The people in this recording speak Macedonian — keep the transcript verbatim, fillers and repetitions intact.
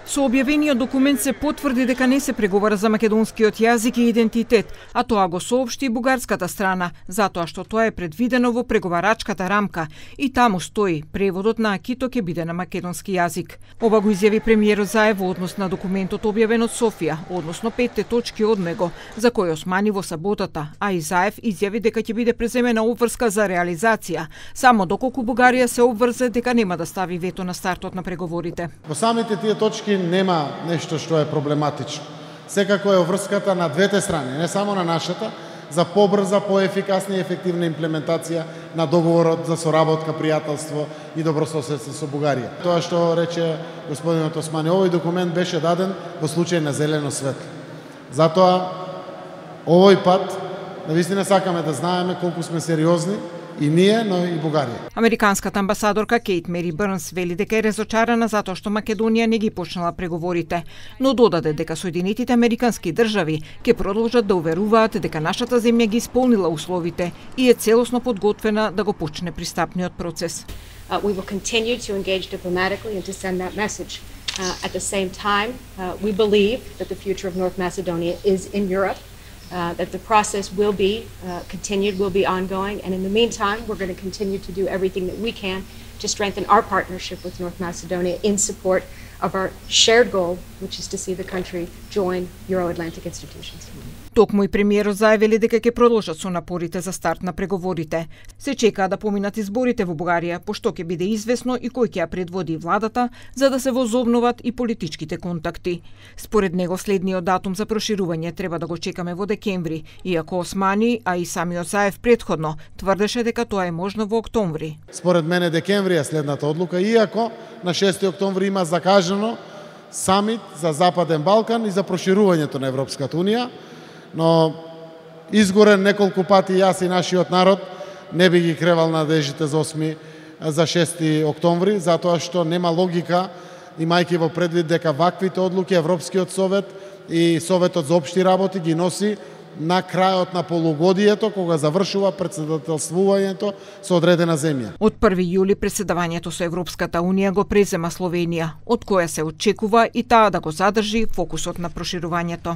Со објавениот документ се потврди дека не се преговара за македонскиот јазик и идентитет, а тоа го соопшти и бугарската страна, затоа што тоа е предвидено во преговарачката рамка и таму стои преводот на акито ќе биде на македонски јазик. Ова го изјави премиерот Заев во однос на документот објавен од Софија, односно петте точки од него, за кој Османи во саботата, а и Заев изјави дека ќе биде преземена обврска за реализација, само доколку Бугарија се обврзе дека нема да стави вето на стартот на преговорите. Во самите тие точки нема нешто што е проблематично. Секако е обврската на двете страни, не само на нашата, за побрза, поефикасна и ефективна имплементација на договорот за соработка, пријателство и добрососедство со Бугарија. Тоа што рече господинот Османи, овој документ беше даден во случај на зелено светло. Затоа овој пат навистина сакаме да знаеме колку сме сериозни и ние, но и Бугарија. Американската амбасадорка Кейт Мери Брнс вели дека е разочарана затоа што Македонија не ги почнала преговорите, но додаде дека Соединетите Американски држави ќе продолжат да уверуваат дека нашата земја ги исполнила условите и е целосно подготвена да го почне пристапниот процес. Uh, we will continue to engage diplomatically and to send that message. Uh, at the same time, uh, we believe that the future of North Macedonia is in Europe. Uh, that the process will be uh, continued, will be ongoing, and in the meantime, we're going to continue to do everything that we can to strengthen our partnership with North Macedonia in support of our shared goal, which is to see the country join Euro-Atlantic institutions. Токму и премиерот заявили дека ќе продолжат со напорите за старт на преговорите. Се чекаа да поминат изборите во Бугарија, пошто ќе биде известно и кој ќе ја предводи владата, за да се возобноват и политичките контакти. Според него следниот датум за проширување треба да го чекаме во декември, иако Османи, а и самиот Заев предходно тврдеше дека тоа е можно во октомври. Според мене декември е следната одлука, иако на шести октомври има закажано самит за Западен Балкан и за проширувањето на Европската унија, но изгорен неколку пати јас и нашиот народ не би ги кревал надежите за осми за шести октомври, затоа што нема логика, имајќи во предвид дека ваквите одлуки Европскиот совет и Советот за општи работи ги носи на крајот на полугодието, кога завршува претседателствувањето со одредена земја. Од први јули претседавањето со Европската унија го презема Словенија, од која се очекува и таа да го задржи фокусот на проширувањето.